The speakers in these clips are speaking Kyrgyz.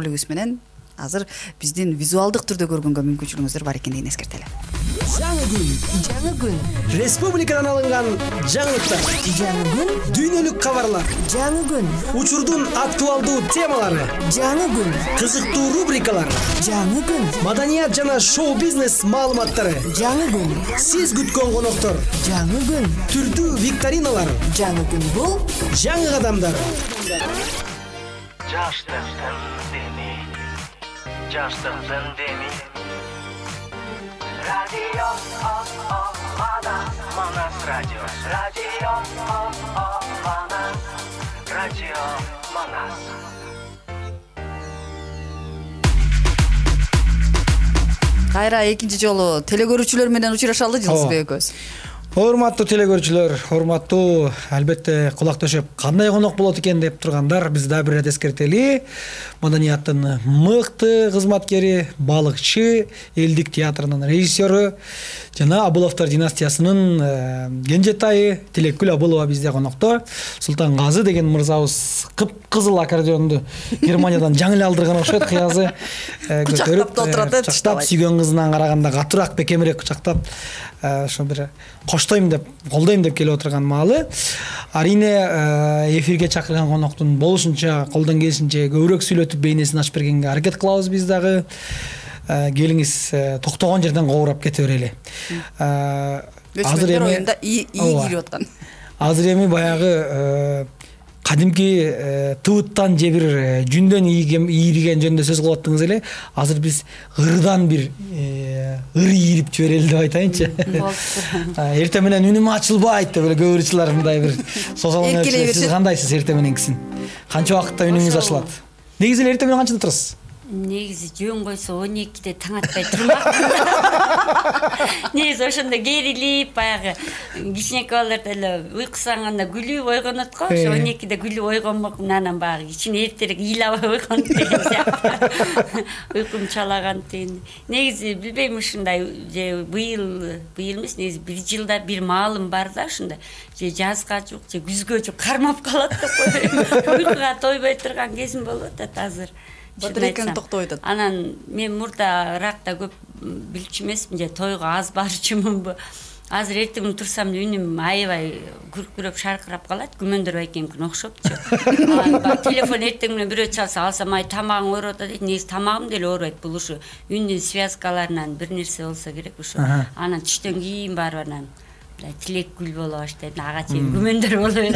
ролигибиз менен азыр биздин визуалдык түрдө көргөнгө мүмкүнчүлүгүңүздөр бар экендигин эскертели. Жаңы күн. Республикадан алынган жаңылыктар. Жаңы күн. Дүйнөлүк кабарлар. Жаңы күн. Учурдун актуалдуу темалары. Жаңы күн. Кызыктуу рубрикалар. Жаңы күн. Маданият жана шоу-бизнес маалыматтары. Жаңы күн. Сиз күткөн коноктор. Жаңы күн. Түрдүү викториналар. Жаңы күн бул Жаңы кадамдар. Жаштыктын деми радио Манас радио Манас Кайра экинчи жолу телекөрүүчүлөр менен учурашалы Жылысбек экөөбүз. Урматтуу телекөрүүчүлөр, урматтуу албетте кулак төшөп кандай конок болот экен деп тургандар, биз да бир ирет эскертели. Маданияттын мыкты кызматкери, балыкчы, элдик театрынын режиссеру жана Абыловдор династиясынын кенжетайы Тилекгүл Абылова бизде конокто. Султангазы деген мырзабыз кып-кызыл аккордеонду Германиядан жаңы эле алдырган окшойт, кыязы көтөрүп кучактап сүйгөн кызынан караганда катуураак, бекемирээк кучактап ошо бир коштойм деп, колдойм деп келип отурган маалы. Арине эфирге чакырган коноктун болушунча, колдон келишинче көбүрөөк сүйлөтүп бейнесин ачып бергенге аракет кылабыз биз дагы. Келиңиз, токтогон жерден коорап кете берели. Азыр эми оюнда ии кирип аткан. Азыр эми баягы кадимки тыбыттан же бир жүндөн ийриген жөнүндө сөз кылып аттыңыз эле. Азыр биз ырдан бир ыр ийрип жиберели деп айтайынчы. Эртең менен үнүм ачылбайт деп эле көбүрчүлөр мындай бир созалаң. Сиз кандайсыз эртең мененкисин? Канча убакытта үнүңүз ачылат? Негизи эле эртең менен канчада турасыз? Негизи жөн койсо 12-де таң атпай турмак. Негизи ошондо керилип, баягы кичинекей балдар эле уйкусанганда күлүп ойгонот го. Ошо 12-де күлүп ойгонмок, анан баягы кичине эртерээк ыйлабай ойгонот деген сыяктуу. Уйкум чалаган деген. Негизи билбейм, ушундай же быйыл эмес, негизи бир жылда бир маалым бар да, ушундай. Же жазга жок, же күзгө жок кармап калат деп койбойм. Уйкуга тойбой турган кезим болуп атат азыр. Батырекең токтой атат. Анан мен мурдаракта көп билчү эмесмин, же тойго аз барчумунбу. Азыр эртең турсам үнүм аябай күркүрөп шаркырап калат, Күмөндөр байкемдикине окшоптчу. Телефон эртең менен бирөө чалса, алсам ай тамагың ооруп атат дейт. Негизи тамагым деле оорубайт, бул ушу үндүн связкаларынан бир нерсе болсо керек ушу. Анан түштөн кийин барып анан Тилекгүл боло баштайт, ага чейин Күмөндөр боло берет.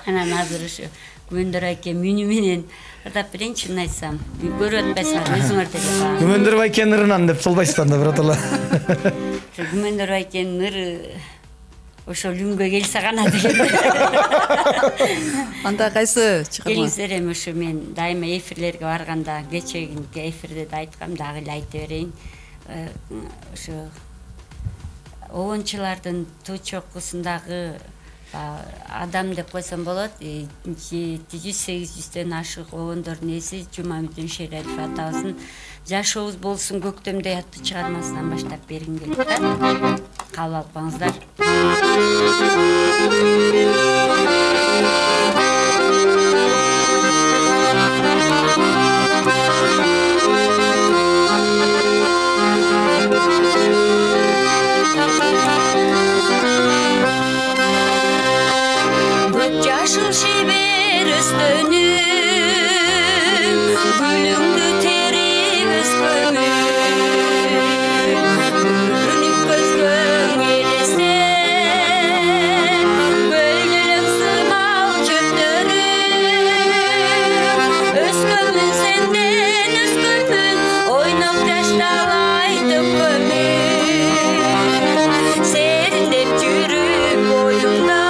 Анан азыр ушу Күмөндөр байкем үнү менен ырдап берейинчи, чынын айтсам. Көрүп атпайсыңар, өзүңөр деле. Күмөндөр байкенин ырынан деп солбайсыздар да биротоло. Күмөндөр байкенин ыры ошол үнгө келсе гана деген. Анда кайсы чыгарма? Келиңиздер, эми ушу мен дайыма эфирлерге барганда, кечеги эфирде да айткам, дагы эле айта берейин. Ошо обончулардын туу чокусундагы адам деп койсом болот, 700-800дөн ашык обондордун эси Жумамидин Шериатов атабыздын Жашообуз болсун көктөмдөй аттуу чыгармасынан баштап бергим келет да. Кабыл алып коңуздар. Yaşıl şiber üstünü gülüngdü terip üskönü Günük gözgön gelese Gönlüm sığmal çöptörü Üskönmün senden üskönmün Oynap yaştalay tökönmün Serindep yürüp boyumda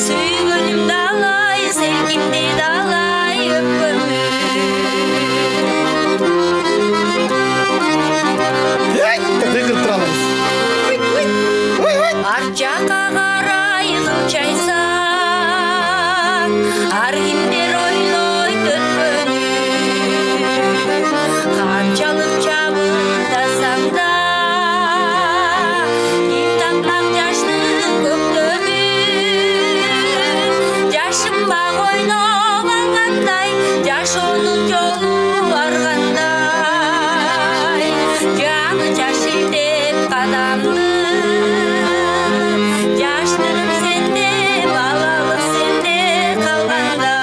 Sügünüm dalay, sevgimdi dalay öpümü Arçaka karay kılçaysan Argimder oyloy tökönü Kançalık çabıldasan da Gittanmak yaşlı köktönü Yaşım bağ oyna жашоонун жолу баргандай жаңы жаш илдеп кадамды жаштыгым сенде балалык сенде калгандай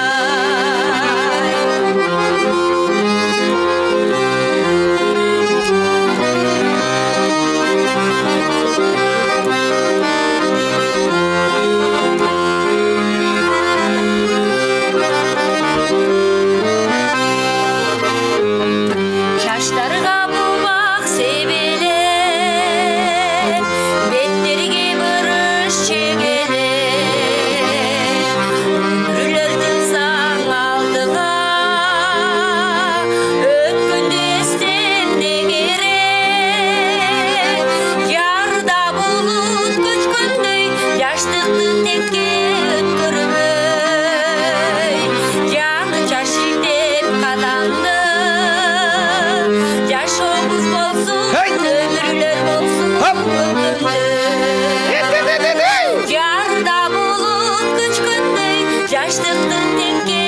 жаштарга бул бак себелеп беттерге бырыш чегелеп өмүрлөр тылсаң алдыга өткөндү эстемде керек жарда булут көчкөндөй жаштыкты текке өткөрбөй жаңы жаш илдеп кадамды жашообуз болсун өмүрлөр болсун жарда булут көчкөндөй жаштыкты текке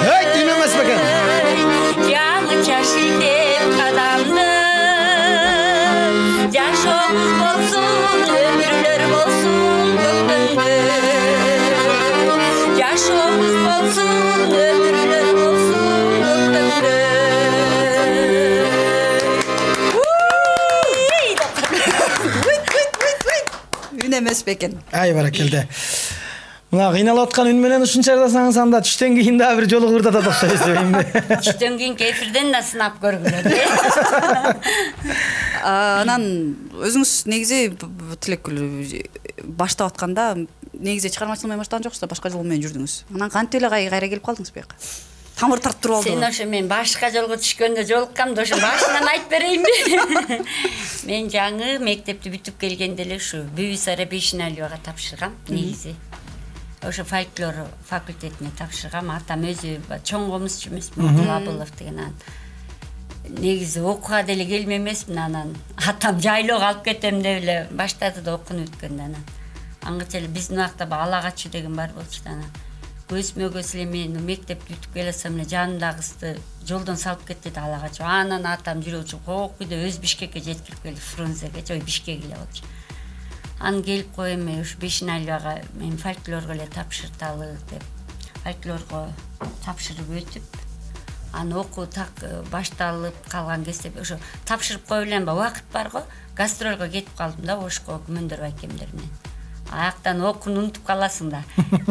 Эй, түйүн эмес бекен. жаңы жаш илдеп кадамды жашообуз болсун өмүрлөр болсун жашообуз болсун өмүрлөр болсун Үн эмес бекен. Ай баракелде. Мына кыйналып аткан үн менен ушунча жасаңыз анда түштөн кийин дагы бир жолу кырдатат окшойт эсебейм. түштөн кийинки эфирден да сынап көргүлө. Анан өзүңүз негизи Тилекгүл баштап атканда негизи чыгармачылык менен баштаган жоксуз да, башка жол менен жүрдүңүз. Анан кантип эле кайра келип калдыңыз бияка? Тамыр тартып туруп Сен алдыңыз. ошо мен башка жолго түшкөндө жолуккам да ошо башынан айтып берейинби? Мен жаңы мектепти бүтүп келгенде эле ушу Бүйүсара Бейшеналиевага тапшыргам негизи. Ошо фольклор факультетине тапшыргам. Атам өзү чоң комузчу эмесмин, Абылов деген анан. Негизи окууга деле келме эмесмин, анан атам жайлоого алып кетем деп эле баштады да окууну бүткөндө анан. Аңгыча эле биздин убакта ала качуу деген бар болчу да анан. Көзмөгөс эле мен мектепти бүтүп келсем эле жанымдагы кызды жолдон салып кетти да ала качуу. Анан атам жүрөчү кокуйда өз Бишкекке жеткирип келди, Фрунзеге, ой Бишкек эле болчу. Анан келип коем, ушу Бейшеналиевага мен фольклорго эле тапшырталы деп фольклорго тапшырып өтүп, анан окуу так башталып калган кезде ошо тапшырып коюп элем ба, убакыт барго, гастролго кетип калдым да Ошко Күмөндөр байкемдер менен. Аяктан окууну унутуп каласың да.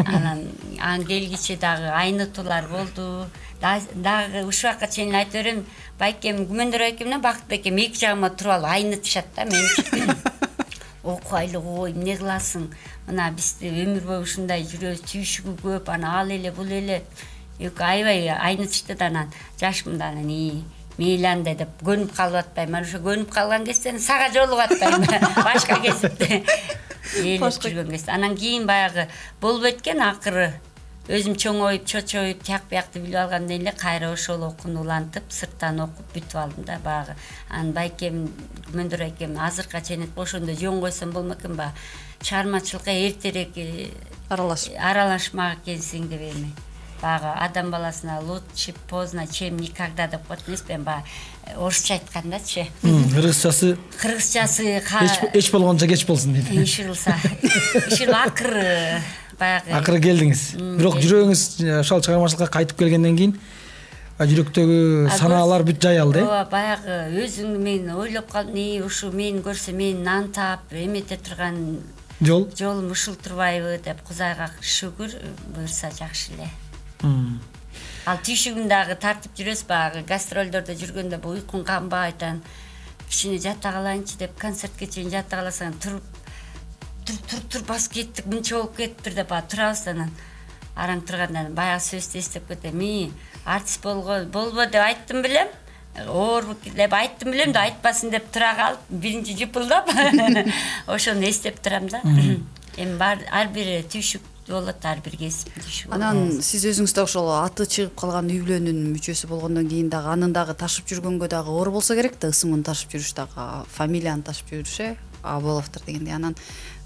Анан келгиче дагы айнытуулар болду. Дагы ушул убакка чейин айтып берем, байкем Күмөндөр байкемден Бакыт байкем эки жагыма туруп алып айнытышат да мен. Окуайлык ой, эмне кыласың? Мына бизде өмүр бою ушундай жүрөбүз, түйшүгү көп, ана ал эле, бул эле. Аябай айнытышты да анан жашмында анан мейли андай деп көнүп калып атпайм. Ошо көнүп калган кезде сага жолугуп атпайм. Башка кезипте. Элеп жүргөн кезде. Анан кийин баягы болбойт экен, акыры өзүм чоңоюп, чочоюп, тияк биякты билип алгандан эле кайра ошол окууну улантып, сырттан окуп бүтүп алдым да баягы. Анан байкем, Күмөндөр байкем азыркыга чейин ошондо жөн койсом болмок экен ба. Чыгармачылыкка эртерээк аралашмак экенсиң деп эми. Баягы адам баласына лучше поздно, чем никогда деп коет эмеспен, баягы орусча айткандачы. Кыргызчасы эч болгончо кеч болсун дейт. Ишилса. Ишил акыры баягы. Акыры келдиңиз. Бирок жүрөгүңүз ошол чыгармачылыкка кайтып келгенден кийин жүрөктөгү санаалар бүт жаялды. Ооба, баягы өзүңдү мен ойлоп калдым, ушу мени көрсө мени нан таап, эмете турган жолум ушул турбайбы деп Кудайга шүгүр, буюрса жакшы эле. Ал түйшүгүн дагы тартып жүрөсүз, баягы гастролдордо жүргөндө бу уйкуң канбайт, кичине жата калайынчы деп концертке чейин жата каласаң, тур басып кеттик, мынча болуп кетиптир деп турабыз анан араң тургандан баягы сөздү эстеп кетем. Артист болбо деп айттым белем. Оор деп айттым белем да айтпасын деп тура калып, биринчи жыпылдап ошону эстеп турам да. Эми ар бир түйшүк болот, ар бир кесип түйшүк. Анан сиз өзүңүз да ошол аты чыгып калган үй бүлөнүн мүчөсү болгондон кийин дагы анын дагы ташып жүргөнгө дагы оор болсо керек да, ысымын ташып жүрүш дагы, фамилияны ташып жүрүш, Аболовдор дегенде. Анан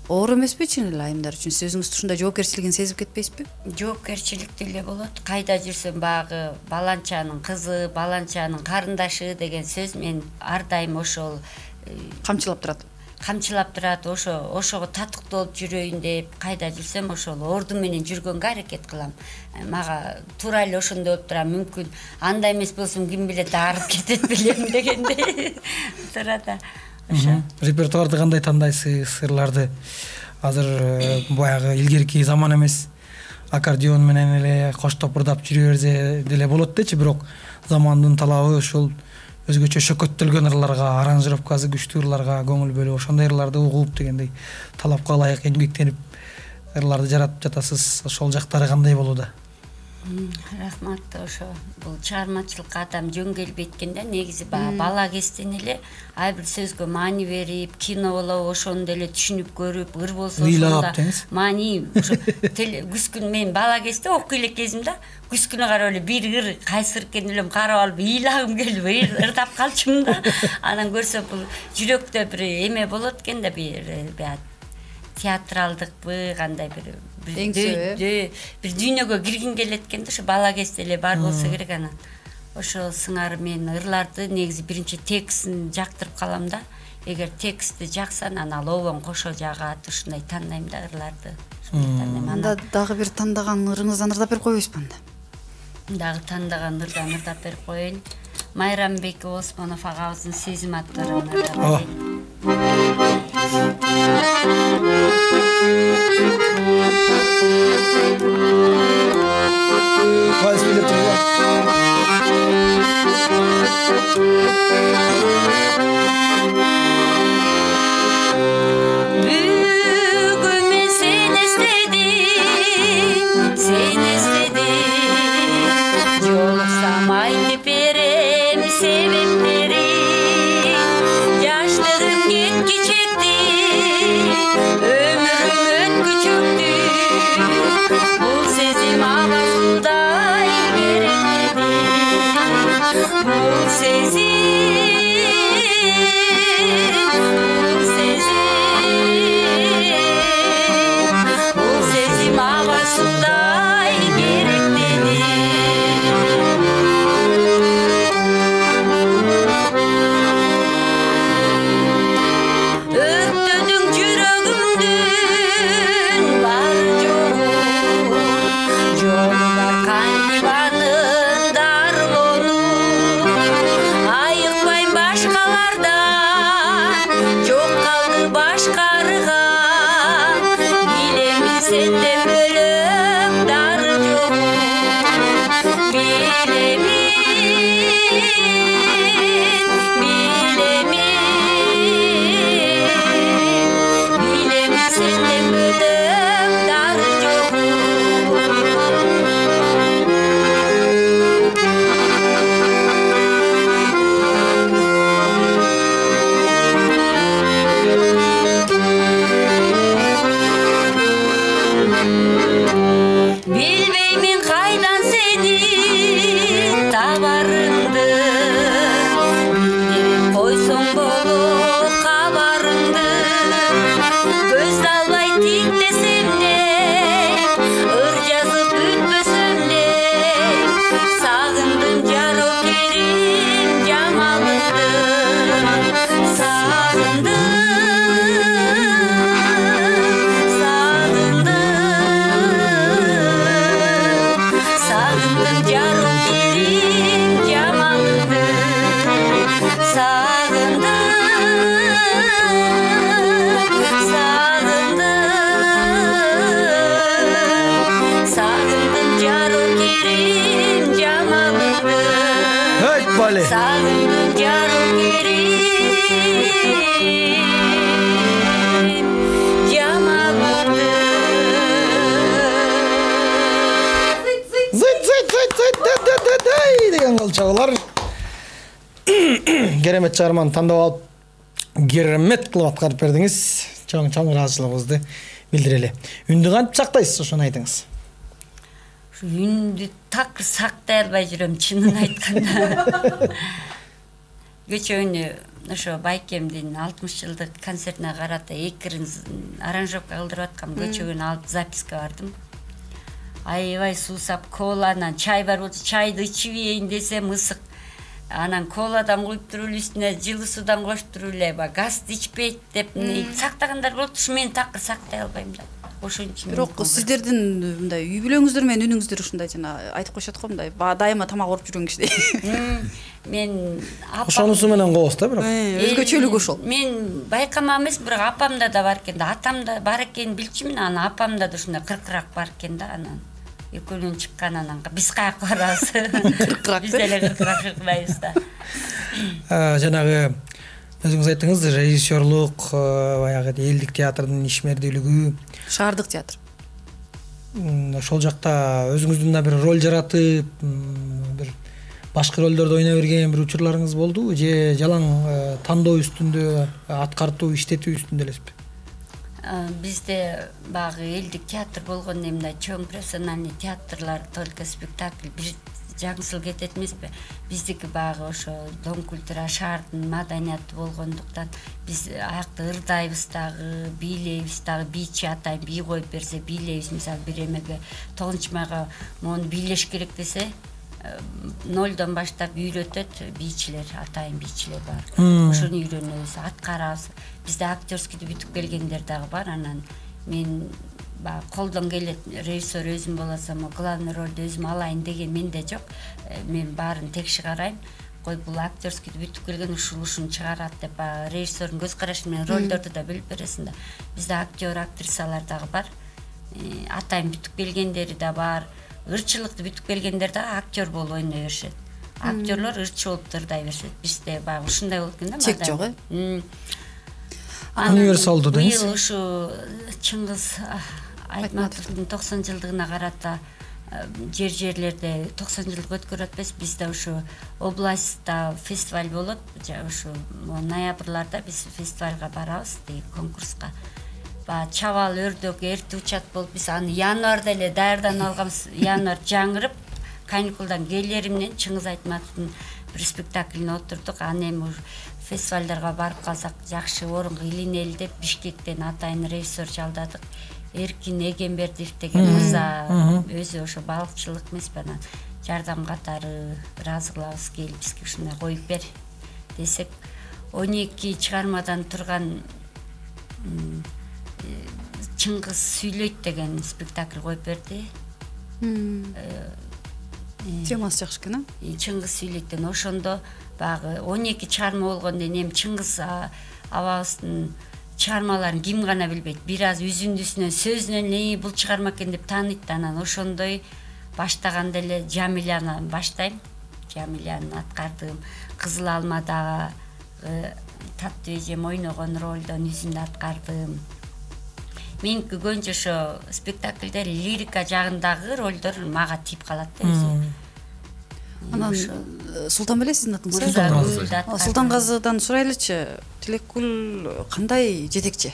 оор эмеспи чын эле айымдар үчүн? Сиз өзүңүз ушундай жоопкерчилигин сезип кетпейсизби? Жоопкерчилик деле болот. Кайда жүрсөм багы баланчанын кызы, баланчанын карындашы деген сөз мен ар дайым ошол Камчылап турат. Ошого татыктуу болуп жүрөйүн деп кайда жүрсөм ошол орду менен жүргөнгө аракет кылам. Мага туура эле ошондой болуп турат. Мүмкүн андай эмес болсом ким билет аарып кетет белем дегендей турат. Репертуарды кандай тандайсыз, ырларды? Азыр баягы илгерки заман эмес. Аккордеон менен эле коштоп ырдап жүрө берсе деле болот дечи, бирок замандын талабы ошол өзгөчө шөкөттөлгөн ырларга, аранжировкасы күчтүү ырларга көңүл бөлүп, ошондой ырларды угуп дегендей талапка ылайык эмгектенип ырларды жаратып жатасыз. Ошол жактары кандай болууда? Рахмат. Ошо бул чыгармачылыкка адам жөн келбейт экен да. Негизи бала кезден эле ар бир сөзгө маани берип, кино болобу ошону деле түшүнүп көрүп, ыр болсо ошондо маани ошо күз күн мен бала кезде окуй элек кезимде күз күнү карап эле бир ыр кайсы ыр экенин элем карап алып ыйлагым келип ырдап калчумун да. Анан көрсөм бул жүрөктө бир эме болот экен да, бир театралдыкпы, кандай бир дүйнөгө киргин келет экен да. Ошо бала кезде эле бар болсо керек. Анан ошо сыңары мен ырларды негизи биринчи текстин жактырып калам да. Эгер тексти жакса, анан ал обон кошо жагат. Ушундай тандайм да ырларды. Анда дагы бир тандаган ырыңыздан ырдап берип койбойсузбу анда? Дагы тандаган ырдан ырдап берип коеюн. Майрамбек Осмонов агабыздын Сезим аттуу ырын ырдап берейин. Бүгүн мен сени эстедим, жолуксам айтып берем себептерин. Жаштыгым кеткичекти, өмүрүм өткүчөктү, бул сезим абасылдай керектеди. Бул сезим абасылдай керектеди. Өрттөдүң жүрөгүмдүн бар жолу, жолу бар кандибанын дарылоону. Айыкпайм башкалардан, жок калды башкарыган. Билемин сенден бөлөк дары жоку, билемин сенден бөлөк дары жоку. Билбеймин кайдан сени табарымды, билдирип койсоң болот кабарыңды. Көз албай тиктесем де, ыр жазып бүтпөсөм де, сагындым жарокерим жамалыңды. Сагындым жарокерим жамалыңды. Сагындым жарокерим жамалыңды. Сагындым жарокерим жамалыңды. Деген кылчабалар. Керемет чыгарманы тандап алып, керемет кылып аткарып бердиңиз. Чоң ыраазычылыгыбызды билдирели. Үндү кантип сактайсыз, ошону айтыңыз. Үндү так сактай албай жүрөм, чынын айтканда. Кече ошо байкемдин 60 жылдык концертине карата экирин аранжировка кылдырып аткам, көчөгөн алып записка бардым. Аябай суусап коланан чай бар болчу, чайды ичип ийин десем ысык. Анан коладан куюп туруп эле үстүнө жылуу суудан кошуп туруп эле газды ичпейт деп сактагандар болот. Ушу мен такыр сактай албайм да. Ошон үчүн. Бирок сиздердин мындай үй бүлөңүздөр менен үнүңүздөр ушундай жана айтып коюшат го мындай дайыма тамак ооруп жүргөн кишидей. Мен ошонусу менен коебуз да бирок. Өзгөчөлүгү ошол. Мен байкамам эмес, бирок апамда да бар экен да, атамда бар экенин билчүмүн, анан апамда да ушундай кыркырак бар экен да, анан экөөнүн чыккан анан биз каяка барабыз. Биз деле кыркырак чыкпайбыз да. Жанагы өзүңүз айттыңыз, режиссерлук, баягы элдик театрдын ишмердүүлүгү, Шаардык театр. Ошол жакта өзүңүздүн да бир роль жаратып, бир башкы ролдорду ойной берген бир учурларыңыз болдубу же жалаң тандоо үстүндө, аткартуу, иштетүү үстүндө элесизби? Бизде багы элдик театр болгондо мындай чоң профессиональный театрлар только спектакль бир жаңсыл кетет эмеспи? Биздики багы ошо дом культура шаардын маданияты болгондуктан биз аякта ырдайбыз дагы, бийлейбиз дагы, бийчи атайын бий коюп берсе бийлейбиз. Мисалы бир эмеге 9-майга мону бийлеш керек десе, 0дон баштап үйрөтөт бийчилер, атайын бийчилер бар. Ошону үйрөнөбүз, аткарабыз. Бизде актерскийди бүтүп келгендер дагы бар. Анан мен колдон келет, режиссер өзүм болсом, главный ролду өзүм алайын деген менде жок. Мен баарын текши карайм. Кой бул актерскийди бүтүп келген ушун чыгарат деп режиссердун көз карашы менен ролдорду да билип бересиң да. Бизде актер, актрисалар дагы бар. Атайын бүтүп келгендери да бар. Ырчылыкты бүтүп келгендер дагы актер болуп ойной беришет. Актерлор ырчы болуп ырдай беришет. Бизде баягы ушундай болуп экен да. Чек жок, Универсалдуу деңиз. Быйыл ушу Чыңгыз Айтматовдун 90 жылдыгына карата жерлерде 90 жылдык өткөрүп атпайбыз. Бизде ушу областта фестиваль болот. Ушу ноябрларда биз фестивалга барабыз, конкурска. Чабал өрдөк эрти учат болуп биз аны январда эле даярданып алганбыз. Январ жаңырып, каникулдан келери менен Чыңгыз Айтматовдун бир спектаклине отурдук. Аны эми фестивалдарга барып калсак жакшы орунга илинели деп Бишкектен атайын режиссер жалдадык. Эркин Эгембердиев деген мырза өзү ошо балыкчылык эмеспи, анан жардам катары ыраазы кылабыз, келип бизге ушундай коюп бер десек, 12 чыгармадан турган Чыңгыз сүйлөйт деген спектакль коюп берди. Темасы жакшы экен, Чыңгыз сүйлөйт деген. Ошондо багы 12 чыгарма болгондо эми Чыңгыз абабыздын чыгармаларын ким гана билбейт. Бир аз үзүндүсүнөн, сөзүнөн эле бул чыгарма экен деп тааныйт. Анан ошондой баштаганда эле Жамиляны баштайм. Жамиляны аткардым. Кызыл алмадагы Таттуу эжем ойногон ролдон үзүндү аткардым. Меники көбүнчө ошо спектакльде лирика жагындагы ролдор мага тип калат да өзү. Анан Султанбеле сиздин атыңыз? Султангазыдан сурайлычы, Тилекгүл кандай жетекчи?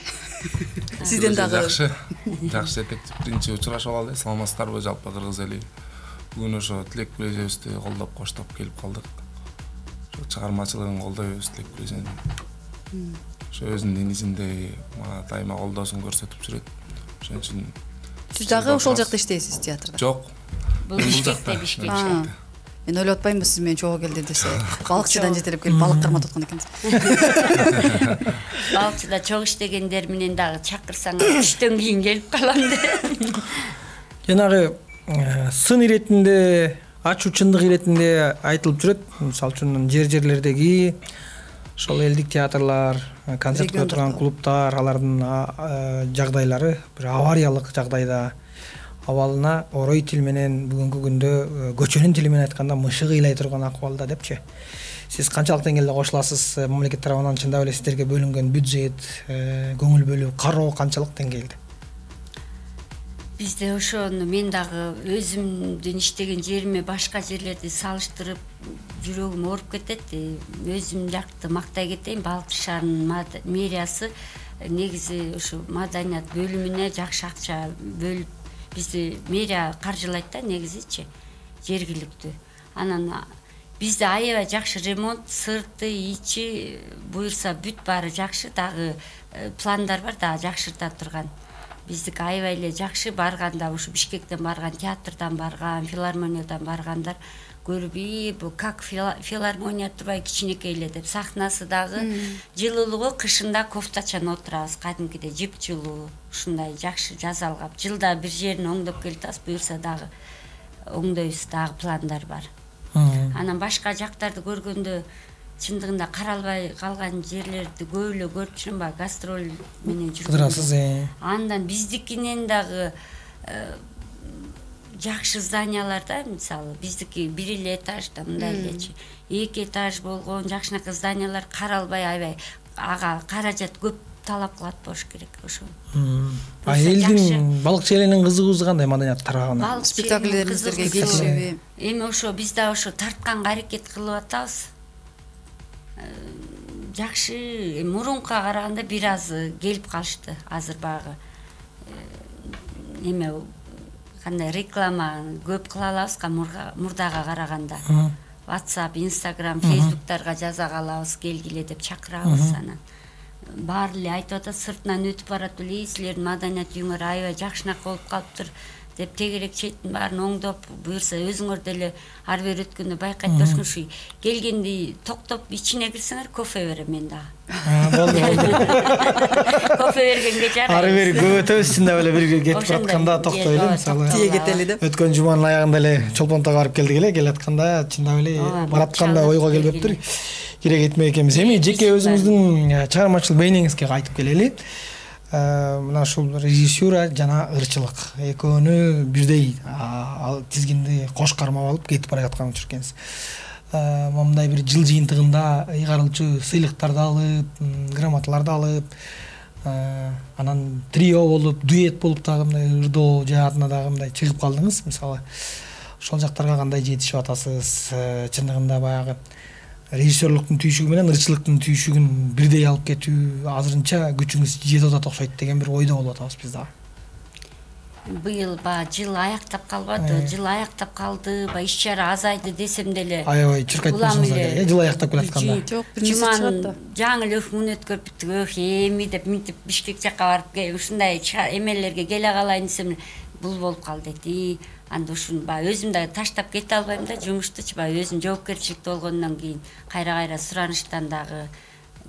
Сизден дагы жакшы жетекчи. Биринчи учурашып алалы, саламатсыздарбы жалпы кыргыз эли. Бүгүн ошо Тилекгүл эжебизди колдоп коштоп келип калдык. Ошо чыгармачылыгын колдойбуз Тилекгүл эжени. Ошо өзүнүн денизинде мага дайыма колдоосун көрсөтүп жүрөт. Ошон үчүн сиз дагы ошол жакта иштейсиз театрда? Жок. Бул Бишкекте. Мен ойлоп атпаймынбы сиз менен чогуу келди десе, балыкчыдан жетелеп келип балык карматып аткан экенсиз. Балыкчыда чогуу иштегендер менен дагы чакырсаңар түштөн кийин келип калам деп. Жанагы сын иретинде, ачуу чындык иретинде айтылып жүрөт. Мисалы үчүн жерлердеги ошол элдик театрлар, концерт кое турган клубтар, алардын жагдайлары бир авариялык жагдайда. Абалына орой тил менен бүгүнкү күндө көчөнүн тили менен айтканда мышык ыйлай турган акыбалда депчи. Сиз канчалык деңгээлде кошуласыз? Мамлекет тарабынан чындап эле сиздерге бөлүнгөн бюджет, көңүл бөлүү, кароо канчалык деңгээлде? Бизде ошону мен дагы өзүмдүн иштеген жериме башка жерлерди салыштырып жүрөгүм ооруп кетет. Өзүм жакты мактай кетейин, Балыкчы шаарынын мэриясы негизи ушу маданият бөлүмүнө жакшы акча бөлүп, бизди мэрия каржылайт да негизичи, жергиликтүү. Анан бизде аябай жакшы ремонт, сырты, ичи буюрса бүт баары жакшы, дагы пландар бар, дагы жакшырта турган. Биздики аябай эле жакшы. Барганда ушу Бишкектен барган, театрдан барган, филармониядан баргандар көрбөй, бу как филармония турбай кичинекей эле деп. Сахнасы дагы жылуулугу, кышында кофтачан отурабыз, кадимкидей жыпчылуу, ушундай жакшы жасалган. Жылда бир жерин оңдоп келип атабыз, буюрса дагы оңдойбуз, дагы пландар бар. Анан башка жактарды көргөндө чындыгында каралбай калган жерлерди көп эле көрүп жүрөм, баягы гастроль менен жүрөсүз. Андан биздикинен дагы жакшы зданияларда, мисалы биздики бир эле этажда мындай элечи, 2 этаж болгон жакшынакай зданиялар каралбай, аябай ага каражат көп талап кылат болуш керек ошо. Элдин балыкчы эленин кызыгуусу кандай маданият тарабынан? Спектакльдериңиздерге келишеби? Эми ошо биз да ошо тартканга аракет кылып атабыз. Жакшы, мурунка караганда бир аз келип калышты. Азыр багы эме кандай реклама көп кыла алабызга мурдага караганда. WhatsApp, Instagram, Facebook'targa жаза калабыз, келгиле деп чакырабыз анан. Баары эле айтып атат, сыртынан өтүп барат эле, силердин маданият үйүңөр аябай жакшынак болуп калыптыр деп тегерек четтин баарын оңдоп, буюрса өзүңөр деле ар бери өткөндө байкайт болушун, ушу келгенди токтоп ичине кирсеңер кофе берем мен дагы. Болду. Кофе бергенге жарайбыз. Ары бери көп өтөбүз, чындап эле бирге кетип баратканда токтой эле, мисалы. Тие кетели деп. Өткөн жуманын аягында эле Чолпонтога барып келдик эле, келатканда чындап эле баратканда ойго келбептир. Керек этме экенбиз. Эми жеке өзүңүздүн чыгармачылык бейнеңизге кайтып келели. Мына ушул режиссура жана ырчылык экөөнү бирдей тизгинди кош кармап алып кетип бара жаткан учур экенсиз. Мындай бир жыл жыйынтыгында ыйгарылчу сыйлыктарды алып, грамоталарды алып, анан трио болуп, дуэт болуп дагы мындай ырдоо жаатына дагы мындай чыгып калдыңыз. Мисалы, ошол жактарга кандай жетишип атасыз? Чындыгында баягы режиссерлуктун түйшүгү менен ырчылыктын түйшүгүн бирдей алып кетүү азырынча күчүңүз жетип атат окшойт деген бир ойдо болуп атабыз биз дагы. Быйыл жыл аяктап калбады, жыл аяктап калды, иш-чара азайды десем деле. Аябай чуркайт болсоңуз керек, жыл аяктап келатканда. Жок, биринчи чыгат да. Жаңы эле күн өткөрүп бүттүк, эми деп минтип Бишкек жакка барып ушундай эмелерге келе калайын десем бул болуп калды дейт. Анда ушуну өзүм да таштап кете албайм да, жумуштучу өзүм жоопкерчиликте болгондон кийин кайра сураныштан дагы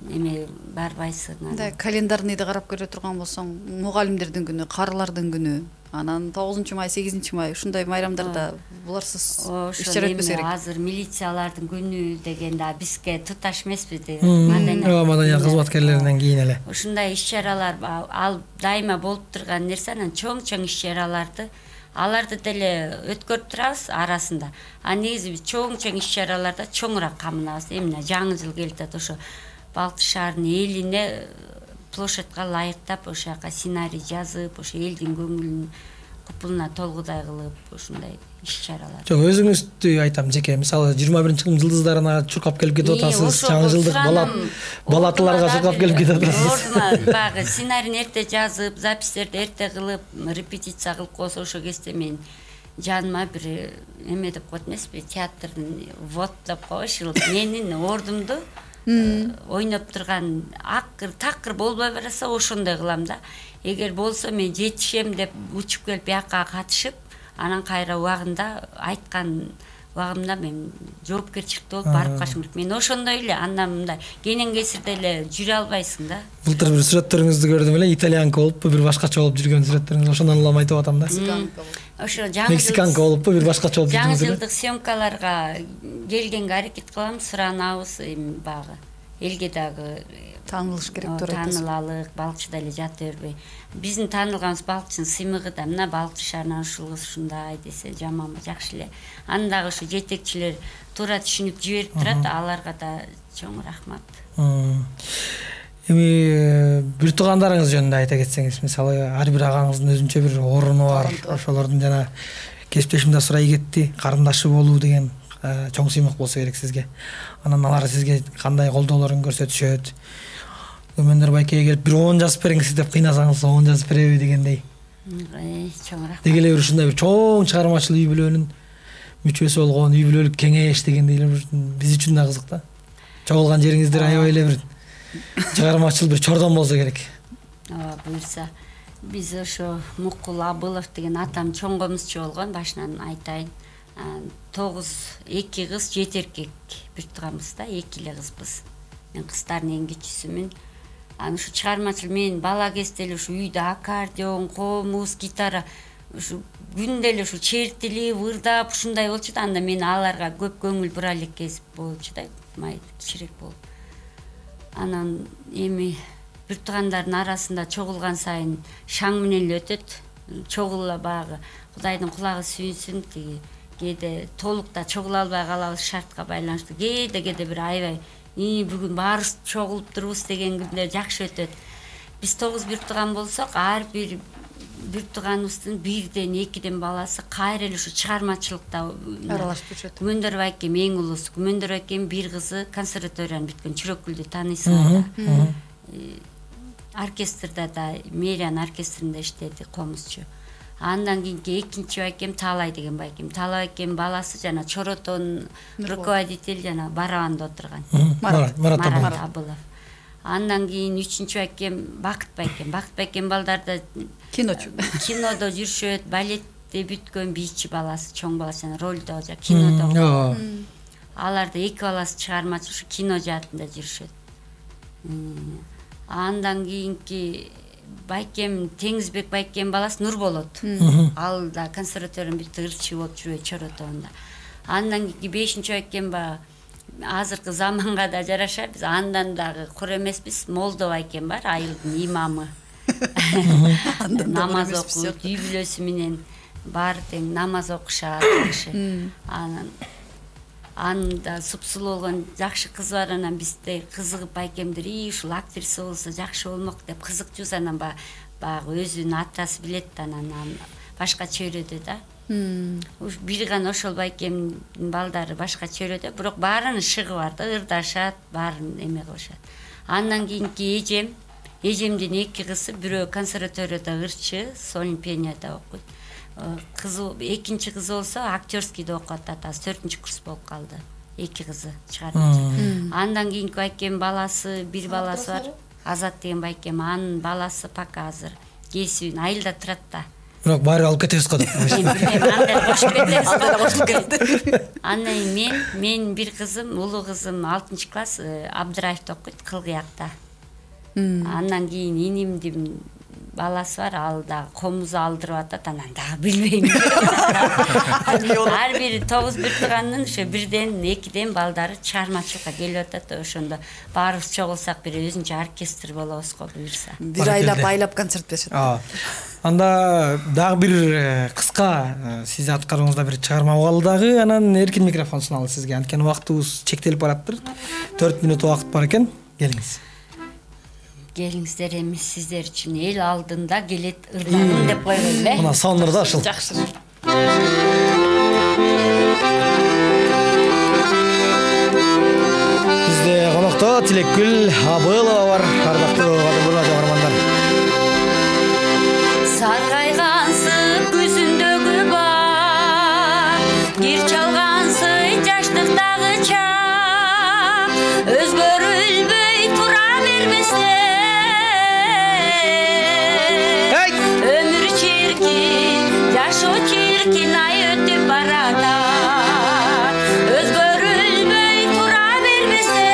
эме барбайсың. Мындай календарныйды карап көрө турган болсоң, мугалимдердин күнү, карылардын күнү, анан 9-май, 8-май ушундай майрамдарда буларсыз иш-чара өтпөсө керек. Азыр милициялардын күнү деген да бизге туташ эмеспи. Маданият кызматкерлеринен кийин эле. Ушундай иш-чаралар ал дайыма болуп турган нерсе, анан чоң иш-чараларды аларды деле өткөрүп турабыз арасында. Негизи биз чоң иш-чараларда чоңураак камынабыз. Эмне жаңы жыл келип атат, ошо Балкчы шаарынын элине площадьга ылайыктап, ошо жака сценарий жазып, ошо элдин көңүлүн купулуна толгудай кылып, ушундай иш-чаралар. Жок, өзүңүздү айтам жеке. Мисалы 21-жылдын жылдыздарына чуркап келип кетип атасыз, жаңы жылдык балатыларга чуркап келип кетип атасыз. Багы сценарийни эрте жазып, запистерди эрте кылып, репетиция кылып койсо ошо кезде мен жаныма бир эме деп коет эмеспи, театрдын вот деп коюшу, менин ордумду ойноп турган такыр болбой барса ошондой кылам да. Эгер болсо мен жетишем деп учуп келип бияка катышып, анан кайра убагында айткан убагымда мен жоопкерчиликте болуп барып калышым керек. Мен ошондой эле андан мындай кенен кесирде эле жүрө албайсың да. Былтыр бир сүрөттөрүңүздү көрдүм эле, итальянка болуппу, бир башкача болуп жүргөн сүрөттөрүңүз, ошондон улам айтып атам да. Ошо Мексиканка болуппу, бир башкача болуп жүргөн. Жаңы жылдык съемкаларга келгенге аракет кылам, суранабыз, эми багы элге дагы таанылыш керек турат. Таанылалык, балыкчыда эле жата бербей. Биздин таанылганыбыз балыкчынын сыймыгы да, мына балыкчы шаарынан ушул кыз ушундай десе жаманбы, жакшы эле. Андагы ушу жетекчилер туура түшүнүп жиберип турат, аларга да чоң рахмат. Эми бир туугандарыңыз жөнүндө айта кетсеңиз, мисалы ар бир агаңыздын өзүнчө бир ордуну бар. Ошолордун жана кесиптешим да сурай кетти, карындашы болуу деген чоң сыймык болсо керек сизге. Анан алар сизге кандай колдоолорун көрсөтүшөт? Өмөндөр байкеге келип бир 10 жазып бериңиз деп кыйнасаңыз 10 жазып береби дегендей. Чоң рахмат. Деги эле ушундай бир чоң чыгармачыл үй бүлөнүн мүчөсү болгон үй бүлөлүк кеңеш дегендей эле биз үчүн да кызык да. Чогулган жериңиздер аябай эле бир чыгармачыл бир чордон болсо керек. Ооба, буюрса. Биз ошо Мукул Абылов деген атам чоң комузчу болгон, башынан айтайын. 2 кыз, 7 эркек бир турганбыз да, 2 эле кызбыз. Мен кыздардын эң кичүүсүмүн. Аны ушу чыгармачыл мен бала кезде эле ушу үйдө аккордеон, комуз, гитара ушу күндө эле ушу чертилип, ырдап ушундай болчу да. Анда мен аларга көп көңүл бура элекпиз болчу да, май кичирээк болуп. Анан эми бир туугандардын арасында чогулган сайын шаң менен эле өтөт. Чогула багы Кудайдын кулагы сүйүнсүн, тиги кээде толукта чогула албай калабыз шартка байланыштуу. Кээде бир аябай бүгүн баарыбыз чогулуп турубуз деген күндөр жакшы өтөт. Биз 9 бир тууган болсок, ар бир тууганыбыздын 1ден 2ден баласы кайра эле ушу чыгармачылыкта аралашып жүрөт. Күмөндөр байкем эң улуусу. Күмөндөр байкем бир кызы консерваторияны бүткөн, Чүрөкүлдү тааныйсыңар да. Оркестрда да, Мэриан оркестринде иштеди, комузчу. Андан кийинки экинчи байкем Таалай деген байкем. Таалай байкем баласы жана Чоротон руководитель жана барабанда отурган. Марат Абылов. Андан кийин 3-чү байкем Бакыт байкем. Бакыт байкем балдарда Киночу. Кинодо жүрүшөт, балетте бүткөн бийчи баласы, чоң баласы жана ролдо жа кинодо. Аларда 2 баласы чыгармачы ушу кино жаатында жүрүшөт. Андан кийинки байкем Теңизбек байкем баласы Нурболот. Ал да консерваторияны бүттү, ырчы болуп жүрөт Чоротонда. Андан кийинки 5-чү байкем азыркы заманга да жараша биз андан дагы кур эмеспиз, Молдо байкем бар, айылдын имамы. Намаз окуйт, үй бүлөсү менен баары тең намаз окушат жакшы. Анда супсулуу болгон жакшы кыз бар, анан бизде кызыгып байкемдер ушул актриса болсо жакшы болмок деп кызыкчубуз. Анан баягы өзүнүн атасы билет да, анан башкача өрөдө да. Бир гана ошол байкемдин балдары башкача өрөдө, бирок баарынын шыгы бар да, ырдашат, баарын эме кылышат. Андан кийинки эжемдин 2 кызы, бирөө консерваторияда ырчы, солин пенияда окуйт. Экинчи кызы болсо актёрскийде окуп атат, 4-чү курс болуп калды. 2 кызы чыгармачы. Андан кийинки байкем баласы, бир баласы бар, Азат деген байкем, анын баласы пока азыр кесибин айылда турат да. Бирок баары алып кетебиз го деп. Анда кошуп кетти. Андан мен бир кызым, улуу кызым 6-чы класс Абдыраевде окуйт, Кылгыякта. Андан кийин инимдин баласы бар, ал да комуз алдырып атат, анан дагы билбейм. Ар бир 9 бир тууганын ошо 1ден 2ден балдары чыгармачылыкка келип атат. Ошондо баарыбыз чогулсак бир өзүнчө оркестр болобуз го, буюрса. Бир айлап концерт беришет. Анда дагы бир кыска сиз аткаруңузда бир чыгарма калды дагы, анан эркин микрофон суналды сизге. Анткени убактыбыз чектелип бараттыр. 4 мүнөт убакыт бар экен. Келиңиз. Келиңиздер, эми сиздер үчүн эл алдында келет ырдагым деп койгон эле. Мына сонур да ушул. Жакшы. Бизде конокто Тилекгүл Абылова бар, ардактуу радио каармандар. Саргайгансып күзүндөгү бак, кир чалгансый жаштыктагы чак, өзгөрүлбөй тура бермесе. Өмүр чиркин, жашоо чиркин, ай өтүп баратат. Өзгөрүлбөй тура бермесе.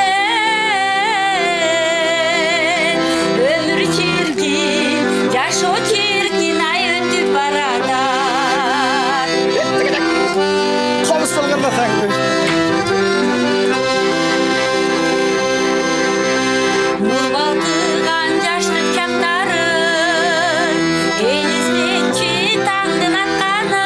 Өмүр чиркин, жашоо чиркин, ай өтүп баратат. Комуз болгондо таң. Нур балкыган жаштык чактарын, эл издечи таңдын атканын.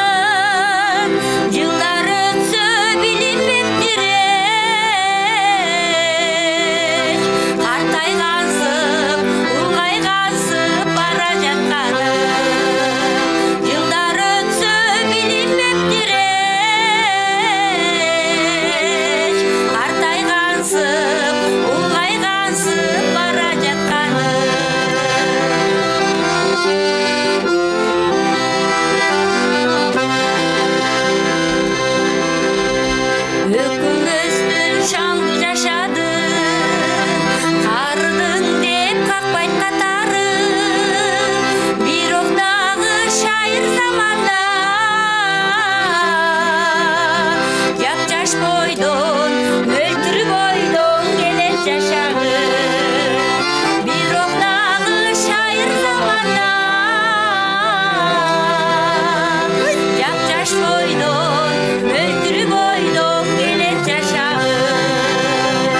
жаш бойдон мөлтүрүп ойдон келет жашагым бирок дагы шайыр заманда жаш бойдон мөлтүрүп ойдон келет жашагым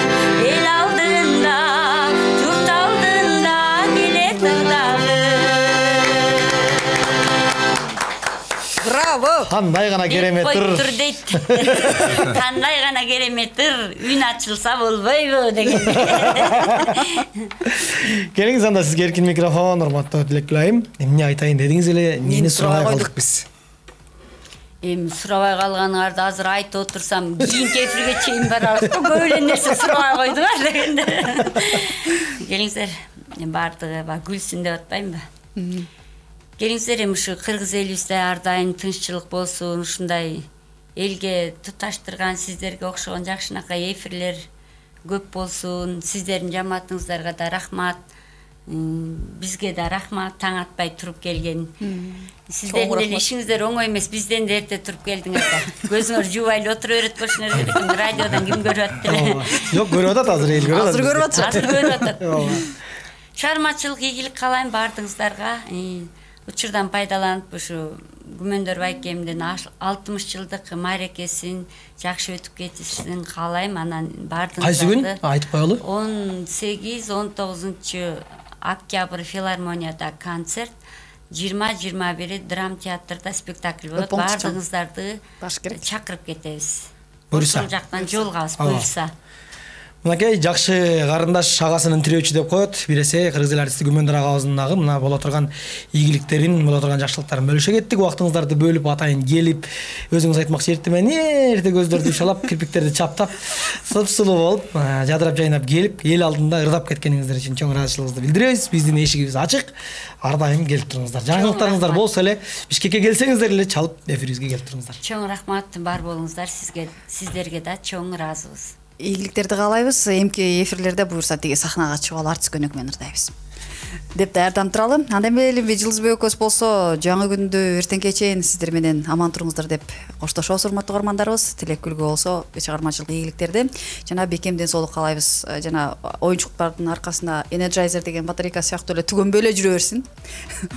эл алдында журт алдында келет ырдагым. Браво. Кандай гана кереметтир. Тур дейт. Кандай гана кереметтир. Үн ачылса болбойбу деген. Келиңиз анда сизге эркин микрофон, урматтуу Тилеккүл айым. Эмне айтайын дедиңиз эле, эмнени сурабай калдык биз? Эми сурабай калганыңарды азыр айтып отурсам, кийинки эфирге чейин барабыз. Көп эле нерсе сурабай койдуңар дегенде. Келиңиздер, бардыгы күлсүн деп атпаймынбы? Келиңиздер, эми ушу кыргыз элибизде ар дайым тынччылык болсун, ушундай элге туташтырган сиздерге окшогон жакшынакай эфирлер көп болсун. Сиздердин жамаатыңыздарга да рахмат. Бизге да рахмат, таң атпай туруп келген. Сиздердин деле ишиңиздер оңой эмес, бизден да эрте туруп келдиңер да. Көзүңөр жуубай эле отура берет болушуңар керек. Радиодон ким көрүп атты эле? Жок, көрүп атат азыр, эл көрүп атат. Азыр көрүп атат. Азыр көрүп атат. Чыгармачылык ийгилик каалайм баардыгыңыздарга. Учурдан пайдаланып ушу Күмөндөр байкемдин 60 жылдык мааракесин жакшы өтүп кетишин каалайм. Анан баардыгыңыздарды Кайсы күн айтып коелу? 18-19 октябрь филармонияда концерт, 20-21 драм театрда спектакль болот. Баардыгыңыздарды чакырып кетебиз. Ошол жактан жолугабыз буюрса. Мынакей жакшы карындаш агасынын тирөөчү деп коет. Биресе кыргыз эл артисти Күмөндөр агабыздын дагы мына боло турган ийгиликтерин, боло турган жакшылыктарын бөлүшө кеттик. Убактыңыздарды бөлүп атайын келип, өзүңүз айтмакчы эртемен эрте көздөрдү шалап, кирпиктерди чаптап, сып-сулуу болуп, жадырап жайнап келип, эл алдында ырдап кеткениңиздер үчүн чоң ыраазычылыгыбызды билдиребиз. Биздин эшигибиз ачык. Ар дайым келип туруңуздар. Жаңылыктарыңыздар болсо эле, Бишкекке келсеңиздер эле чалып эфирибизге келип туруңуздар. Чоң рахмат, бар болуңуздар. Сиздерге да чоң ыраазыбыз. Ийгиликтерди каалайбыз. Эмки эфирлерде буюрса тиги сахнага чыгып алып артист көнөк менен ырдайбыз деп даярдам туралы. Анда эмне Жылдызбек экөөбүз болсо жаңы күндө эртеңке чейин сиздер менен аман туруңуздар деп коштошобуз, урматтуу угармандарыбыз. Тилеккүлгө болсо чыгармачылык ийгиликтерди жана бекем ден соолук каалайбыз. Жана оюнчуктардын аркасында Energizer деген батарейка сыяктуу эле түгөнбөй эле жүрө берсин.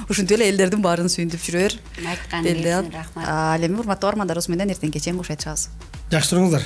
Ушинтип эле элдердин баарын сүйүндүп жүрө бер. Айтканыңыз үчүн рахмат. Ал эми урматтуу угармандарыбыз менен эртеңке чейин кош айтышабыз. Жакшы туруңуздар.